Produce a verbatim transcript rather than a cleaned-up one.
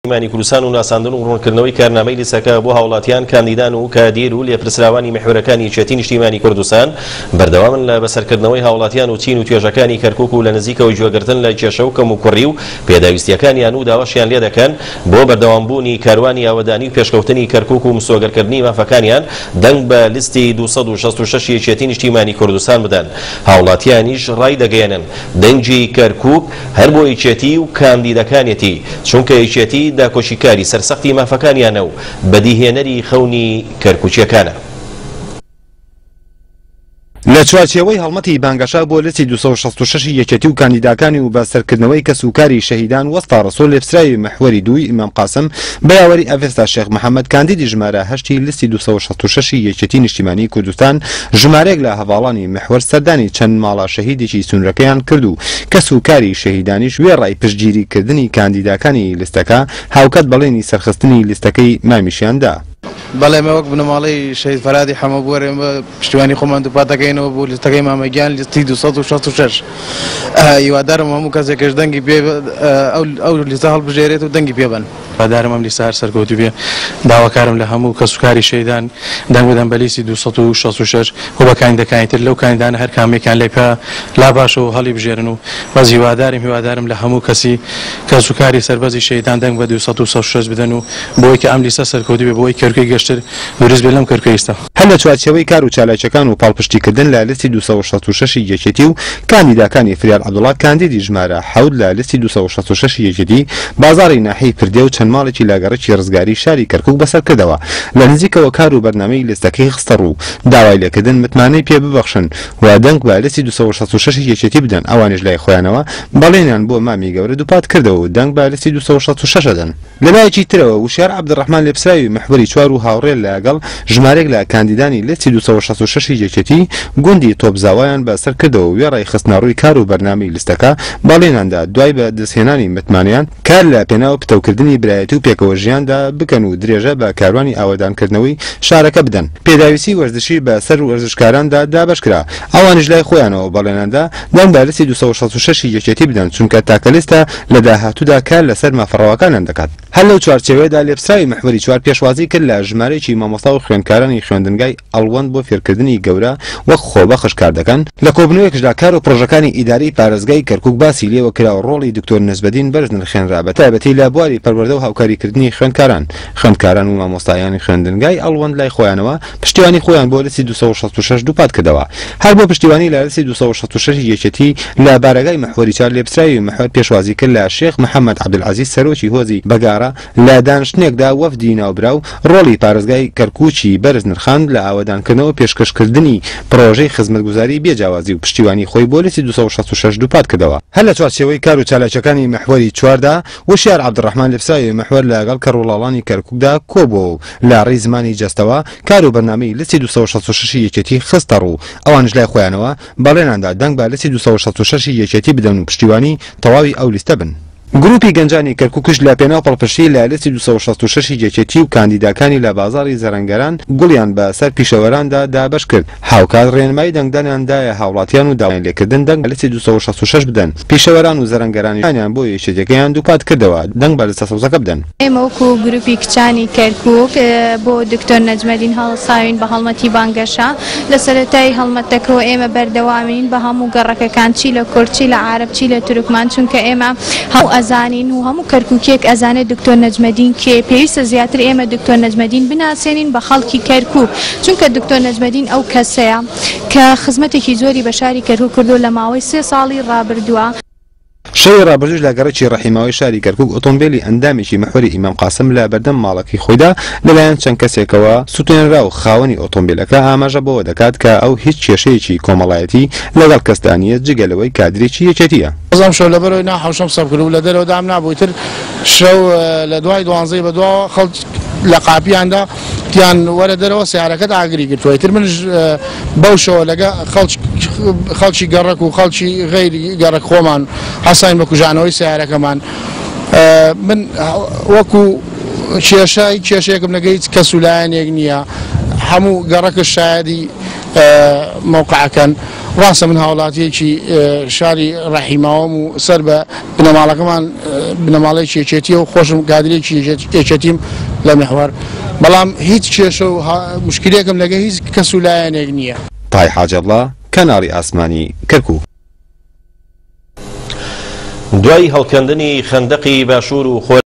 نیشتیمانی کوردستان و ناساندن و ڕوونکردنەوەی کارنامەی لیستەکە بۆ هاوڵاتیان، کاندیدان و کادیر و لێپرسراوانی میحوەرەکانی یەکێتی نیشتیمانی کوردستان بەردەوامن لە بەسەرکردنەوەی هاوڵاتیان و چین و توێژەکانی کەرکوک و لە نزیکەوە گوێگرتن لە کێشە و کەموکوڕی و پێداویستیەکانیان و داواشیان لێ دەکەن بۆ بەردەوامبوونی کاروانی ئاوەدانی و پێشکەوتنی کەرکوک و مسۆگەرکردنی مافەکانیان دەنگ بە لیستی دوو سەد و شەست و شەش یەکێتی نیشتیمانی کوردستان بدەن. هاوڵاتیانیش ڕای دەگەیەنن دەنگی کەرکوک هەر بۆ یەکێتی و کاندیدەکانیەتی، چونکە یەکێتی داکۆشیکاری سەرسەختی مافەکانیانە و بەدیهێنەری خەونی کەرکوچیەکانە. لە چوارچێوەی هەڵمەتی بانگەشە بۆ لیستی دوو سەد و شەست و شەش یەکێتی و کاندیداکانی و بەسەرکردنەوەی کەس و کاری شەهیدان وەستا ڕەسوڵ لێپسراوی محوەری دووی ئیمام قاسم بە یاوەری ئەڤێستا شێخ محەممەد کاندیدی ژمارە هەشتی لیستی دوو سەد و شەست و شەش یەکێتی نیشتیمانی کوردستان ژمارەیەک لە هەڤاڵانی محوەر سەردانی چەند ماڵە شەهیدێکی سنوورەکەیان کرد و کەس و کاری شەهیدانیش وێڕای پشتگیریکردنی کاندیداکانی لیستەکە هاوکات بەڵێنی سەرخستنی لیستەکەی مامیشیان دا. بەڵێ ئێمە وەک بنەماڵەی شەهید فەرهادی حەمەبووەر ئێمە پشتیوانی خۆمان دووپات دەکەینەوە بۆ لیستەکەی مامەگیان لیستی دوو سەد و شەست و شەش. هیوادارم هەموو کەسێکش دەنگی پێ ئەو لیستە هەڵبژێرێت و دەنگی پێ بن. هیوادارم ئەم لیستە هەر سەرکەوتوو بێ. داواکارم لە هەموو کەسوکاری شەهیدان دەنگ بدەن بە لیستی دوو سەد و شەست و شەش و بە کاندیدەکانی تر لەو کاندیدانە هەر کامێکیان لێ پێ لا باشە و هەڵی بژێرن و بەس هیوادارم هیوادارم لە هەموو کەسی کەسوکاری سەربەزی شەهیدان دەنگ بە دوو سەد و شەست و شەش بدەن و بۆی کە ئەم لیستە سەرکەوتوو بێ بۆی کەرکوکی گەشتر دروست بێ لەم کەرکوکی ئێستا. هەر لە چوارچێوەی کار و چالاکیەکان و پاڵپشتیکردن لە لیستی دوو سەد و شەست و شەش یەکێتی و کاندیداکانی فریاد عەبدوڵا کاندیدی ژمارە حەوت لە لیستی دوو سەد و شەست و شەش یەکێتی بازاڕی ناحیەی پردێ و چەند ماڵێکی لە گەڕەکی ڕزگاری شاری کەرکوک بەسەر کردەوە لە نزیکەوە کار و بەرنامەی لیستەکەی خستە ڕوو داوای لێکردن متمانەی پێ ببەخشن و دەنگ بە لیستی دوو سەد و شەست و شەش یەکێتی بدەن. ئەوانیش لای خۆیانەوە بەڵێنیان بۆ مامی گەورە دووپات کردەوە و دەنگ بە لیستی دوو سەد و شەست و شەش دەن. لەلایەکی ترەوە وشیار عەبدولڕەحمان لێپسراوی محوەری چوار و هاوڕێ لەگەڵ ژمارێک لە کاندیدانی لیستی دوو سەد و شەست و شەش یەکێتی گوندی تۆپزاوایان بەسەر کردەوە وێڕای خستنەڕووی کار و بەرنامەی لیستەکە بەڵێنیاندا دوای بە دەستهێنانی متمانەیان کار لە پێناو پتەوکردنی برایەتی و پێکەوە ژیاندا بکەن و درێژە بە کاروانی ئاوەدانکردنەوەی شارەکە بدەن. پێداویستی وەرزشی بە سەر وەرزشکاراندا دابەش کرا، ئەوانیش لای خۆیانەوە بەڵێنیاندا دەنگ بە لیستی دوو سەد و شەست و شەش یەکێتی بدەن، چونکە تاکە لیستە لە داهاتوودا کار لەسەر مافەڕەواکانیان دەکات. هەر لەو چوارچێوەیەدا لێپسراوی محوەری چوار پێشوازی کرد لە ژمارەیەکی مامۆستا و خوێندکارانی خوێندنگای ئەڵوەند بۆ فێرکردنی گەورە وەک خۆبەخش کار دەکەن. لە کۆبنەوەیەکشدا کار و پرۆژەکانی ئیدارەی پارێزگای کەرکوک باسی لێوە کرا و ڕۆڵی دکتۆر نەجمەدین بەرز نرخێنرا بە تایبەتی لە بواری پەروەردە و هاوکاریکردنی خوێندکاران. خوێندکاران و مامۆستایانی خوێندنگای ئەڵوەند لای خۆیانەوە پشتیوانی خۆیان بۆ لیستی دوو سەد و شەست و شەش دووپات کردەوە. هەر بۆ پشتیوانی لە لیستی دوو سەد و شەست و شەش یەکێتی لە بارەگای محوەری چوار لێپسراوی محوەر پێشوازی کرد لە شێخ محەممەد عەبدولعەزیز سەرۆکی هۆزی بەگارە لە دانیشتنێکدا وەفدی ناوبراو ڕۆڵی پارێزگای کەرکوکی بەرز نرخاند لە ئاوەدانکردنەوە پێشکەشکردنی پرۆژەی خزمەتگوزاری بێجیاوازی و پشتیوانی خۆی بۆ لیستی دوو سەد و شەست و شەش دووپات کردەوە. هەر لە چوارچێوەی کار و چالاکیەکانی محوەری چواردا وشیار عەبدولڕەحمان لێپسراوی محوەر لەگەڵ کەڕوڵاڵانی کەرکوکدا کۆبووە و لە ڕێی زمانی جەستەوە کار و بەرنامەی لیستی دوو سەد و شەست و شەش یەکێتی خستە ڕوو. ئەوانیش لای خۆیانەوە بەڵێنیاندا دەنگ بە لیستی دوو سەد و شەست و شەش یەکێتی بدەن و پشتیوانی تەواوی ئەو لیستە بن. گروپی گەنجانی کەرکوکش لە پێناو پەڵپشتی لە لیستی دوو سەد و شەست و شەش یەکێتی و کاندیداکانی لە بازاڕی زەرەنگەران گوڵیان بە سەر پیشەوەراندا دابەش کرد. هاوکات ڕێنمایی دەنگدانیان دایە هاوڵاتیان و داوایان لێکردن دەنگ بە لیستی دوو سەد و شەست و شەش بدەن. پیشەوەران و زەرەنگەرانیان بۆ یەکێتیەکەیان دووپات کردەوە دەنگ بە لیستە سەوزەکە بدەن. ئێمە وەکو گروپی کچانی کەرکوک بۆ دکتۆر نەجمەدین هەڵساوین بە هەڵمەتی بانگەشە. لە سەرەتای هەڵمەتەکەەوە ئێمە بەردەوامین بە هەموو گەڕەکەکان، چی لە کورد، چی لە عەرەب، چی لە تورکمان، چونکە ئێمە هەموو ئەزانین و هەموو کەرکوکێک ئەزانێت دکتۆر نەجمەدین کێ. پێویستە زیاتر ئێمە دکتۆر نەجمەدین بناسێنین بە خەڵکی کەرکوک، چونکە دکتۆر نەجمەدین ئەو کەسەیە کە خزمەتێکی زۆری بە شاری کەرکوک کردو لە ماوەی سێ ساڵی ڕابردووە. شەوی ڕابردووش لە گەڕەکی ڕەحیماوەی شاری کەرکوک ئۆتۆمبیلی ئەندامێکی محوەری ئیمام قاسم لە بەردەم ماڵەکەی خۆیدا لەلایەن چەند کەسێکەوە سوتێنرا و خاوەنی ئۆتۆمبیلەکە ئاماژە بەوە دەکات کە ئەو هیچ کێشەیەکی کۆمەڵایەتی لەگەڵ کەسدا نییە جگە لەوەی کادرێکی یەکێتیە. بەڵام شەو لەبەرەوەی ناحەوشەم سەب کرد و لە دەرەوە دام نابوو، تر شەو لە دوای دوانزەی بەدواوە خەڵک لە قاپیاندا تیان وەرە دەرەوە سیارەکەت ئاگری گرتووە. تر منش بەو شەوە لەگە خەڵکی گەڕەک و خەڵکی غەیری گەڕەک خۆمان هەستاین بە کوژانەوەی سیارەکەمان. من وەکو کێشە کێشەیەکم لەگە هیچ کەس و لایەنێک نییە، هەموو گەڕەکە شایدی مەوقعەکەن. ڕاستە من هاوڵاتیەکی شاری ڕەحیماوەم و سەر بە بنەماڵەکەمان بنەماڵەیەکی یەکێتیە و خۆشم کادرێکی یەکێتیم لە میحوەر، بەڵام هیچ کێشە و مشکلێکم لەگە هیچ کەس و لایەنێک نییە. تای حاجەڵڵا، کەناڵی ئاسمانی کەرکووک. دوای هەڵکەندنی خەندەقی باشوور و خۆر